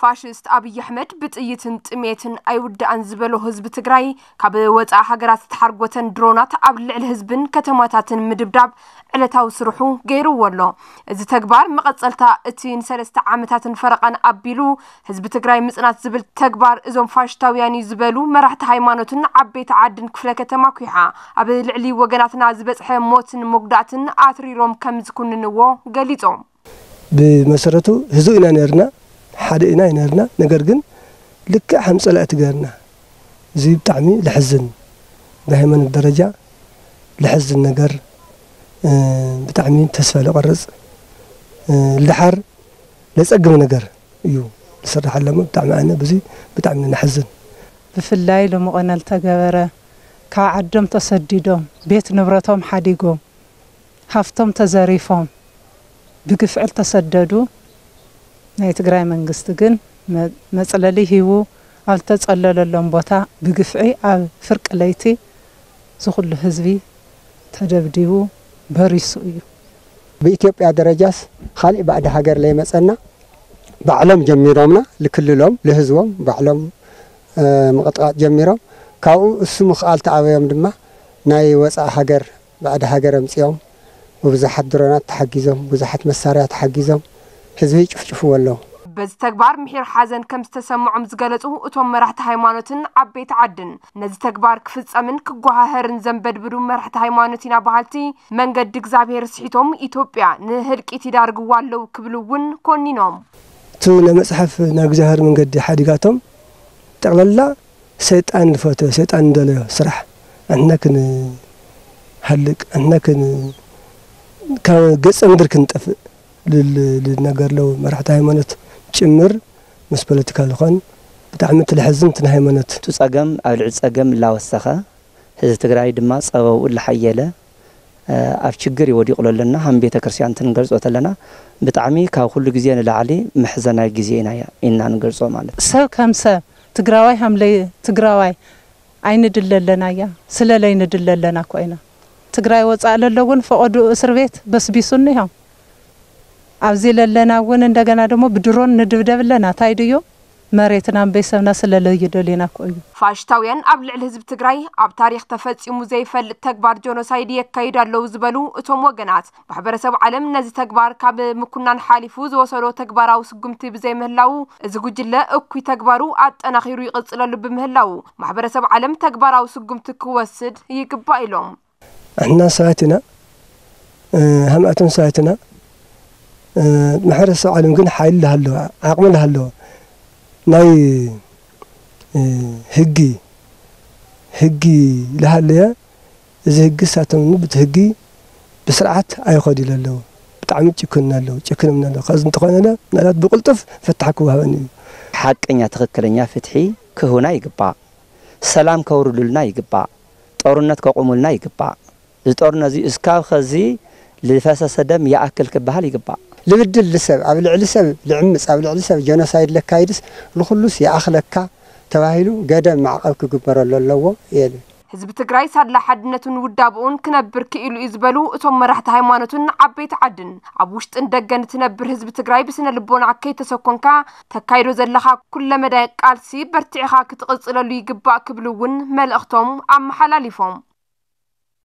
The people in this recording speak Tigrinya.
ፋሽስት ኣብይ ኣሕመድ ብጥይትን ጥሜትን ኣይውዳእን ዝበሎ ህዝቢ ትግራይ፣ ካብ ወፃኢ ሃገራት ዝተሓርጎተን ድሮናት ኣብ ልዕሊ ህዝብን ከተማታትን ምድብዳብ ዕለታዊ ስርሑ ገይርዎ ኣሎ። እዚ ተግባር መቐፀልታ እቲ ንሰለስተ ዓመታትን ፈረቓን ኣቢሉ ህዝቢ ትግራይ ምፅናት ዝብል ተግባር እዞም ፋሽስታውያን እዩ ዝበሉ መራሕቲ ሃይማኖትን ዓበይቲ ዓድን ክፍለ ከተማ ኩሓ ኣብ ልዕሊ ወገናትና ዝበፅሐ ሞትን መጉዳእትን ኣትሪሮም ከም ዝኩንንዎ ገሊፆም። ብመሰረቱ ህዝብ ኢና ነርና፣ ሓደ ኢና ነርና። ነገር ግን ልክዕ ከም ጸላእቲ ገርና፣ እዚ ብጣዕሚ ለሕዝን፣ ብሃይማኖት ደረጃ ለሕዝን ነገር፣ ብጣዕሚ ተስፋ ለቆርጽ፣ ልድሓር ለጸግም ነገር እዩ ዝስራሕ ኣለሞ። ብጣዕሚ ኣነ ብዙ ብጣዕሚ ነሕዝን። ብፍላይ ሎሚ ቆነ ልተገበረ፣ ካብ ዓዶም ተሰዲዶም፣ ቤት ንብረቶም ሓዲጎም፣ ሃፍቶም ተዘሪፎም ብግፍዒ ልተሰደዱ፣ ናይ ትግራይ መንግስቲ ግን መ- መፅለሊ ሂቡ ኣብ ልተፀለለሎም ቦታ ብግፍዒ ኣብ ፍርቂ ለይቲ ዝኹሉ ህዝቢ ተደብዲቡ በሪሱ እዩ። ብኢትዮጵያ ደረጃስ ካሊእ ባዕዲ ሃገር ለይመፀና ባዕሎም ጀሚሮምና ልክልሎም ልህዝቦም ባዕሎም ምቕጥቃጥ ጀሚሮም። ካብኡ እሱ ምኽኣል ተኣበዮም ድማ ናይ ወፃኢ ሃገር ባዕዲ ሃገር ኣምፂኦም ብብዙሓት ድሮናት ተሓጊዞም ብዙሓት መሳርያ ተሓጊዞም ህዝቢ ይጭፍጭፍዎ ኣለዉ። በዚ ተግባር ምሒር ሓዘን ከም ዝተሰምዖም ዝገለፁ እቶም መራሕቲ ሃይማኖትን ዓበይቲ ዓድን፣ ነዚ ተግባር ክፍፀምን ክጓሃሀርን ዘንበድብዱ መራሕቲ ሃይማኖት ኢና በሃልቲ፣ መንገዲ እግዚኣብሔር ስሒቶም ኢትዮጵያ ንህልቂት ይዳርግዋ ኣለዉ ክብሉ እውን ኮኒኖም። እቲ ናይ መፅሓፍ ናይ እግዚኣብሔር መንገዲ ሓዲጋቶም ጠቕለላ ሰይጣን ዝፈተዮ ሰይጣን እንደለዮ ስራሕ ኣንሕና ክንሃልቅ ኣንሕና ካብ ገፀ ምድር ክንጠፍእ ልነገር ለው መራሕቲ ሃይማኖት ጭምር ምስ ፖለቲካ ዝኾን ብጣዕሚ እቲ ለሕዝን እቲ ናይ ሃይማኖት። እቲ ጸገም ኣብ ልዕሊ ጸገም እናወሰኸ ህዝቢ ትግራይ ድማ ጸበብኡ እናሓየለ ኣብ ችግር እዩ ወዲቑ ለለና ሃም ቤተ ክርስቲያን እንትንገልጾ ተለና ብጣዕሚ ካብ ኩሉ ግዜ ንላዕሊ መሕዘናይ ግዜ ኢና ኢና ንገልጾ ማለት እዩ። ሰብ ከም ሰብ ትግራዋይ ሃም ለይ ትግራዋይ ኣይንድለ ኣለና እያ ስለ ለይንድለ ኣለና እኮ ኢና። ትግራይ ወፃእ ለሎ እውን ፈቐድኡ እስር ቤት በስቢሱ እኒሆ። ኣብዚ ለለና እውን እንደገና ደሞ ብድሮን ንድብደብ ኣለና። ታይ ድዩ መሬትና እምበይ ሰብና ስለ ለይደልዩና እኮ እዩ። ፋሽስታውያን ኣብ ልዕሊ ህዝቢ ትግራይ ኣብ ታሪኽ ተፈፂሙ ዘይፈልጥ ተግባር ጆኖሳይድ የካይዱ ኣለዉ ዝበሉ እቶም ወገናት፣ ማሕበረሰብ ዓለም ነዚ ተግባር ካብ ምኩናን ሓሊፉ ዝወሰዶ ተግባራዊ ስጉምቲ ብዘይምህላዉ፣ እዚ ጉጅለ እኩይ ተግባሩ ኣጠናኺሩ ይቕፅለሉ ብምህላዉ፣ ማሕበረሰብ ዓለም ተግባራዊ ስጉምቲ ክወስድ ይግባእ ኢሎም። ኣሕና ሰባት ኢና፣ ሃምኣቶም ሰባት ኢና። ማሕበረሰብ ዓለም ግን ሓይሊ ለሃለዎ፣ ዓቕሚ ለሃለዎ ናይ ህጊ ህጊ ለሃለየ እዚ ህጊ ሳቶም ብቲ ህጊ ብስርዓት ኣይኸዱ ኣለዉ። ብጣዕሚ ጭክን ኣለዉ፣ ጭክንም ኣለዉ። ከዚ እንተኾነ ምናልባት ብቅልጡፍ ፍታሕ ክወሃበኒ እዩ። ሓቀኛ ትኽክለኛ ፍትሒ ክህቡና ይግባእ። ሰላም ከውርዱልና ይግባእ። ጦርነት ከቑሙልና ይግባእ። እዚ ጦርነት እዚ እስካብ ኸዚ ልፈሰሰ ደም ይኣክል ክበሃል ይግባእ። ልብድል ልሰብ ኣብ ልዕሊ ሰብ ልዕምፅ ኣብ ልዕሊ ሰብ ጀኖሳይድ ለካይድስ ልኹሉስ ይኣኽለካ ተባሂሉ ገደብ ማዕቐብ ክግበረሉ ኣለዎ እየ ልብል። ህዝቢ ትግራይ ሳላ ሓድነቱን ውዳብኡን ክነብር ክኢሉ እዩ ዝበሉ እቶም መራሕቲ ሃይማኖትን ዓበይቲ ዓድን፣ ኣብ ውሽጥን ደገን እትነብር ህዝቢ ትግራይ ብስነ ልቦና ከይተሰኮንካ ተካይዶ ዘለኻ ኩለመዳይ ቃልሲ በርቲዕኻ ክትቕፅለሉ ይግባእ ክብሉ እውን መልእኽቶም ኣመሓላሊፎም።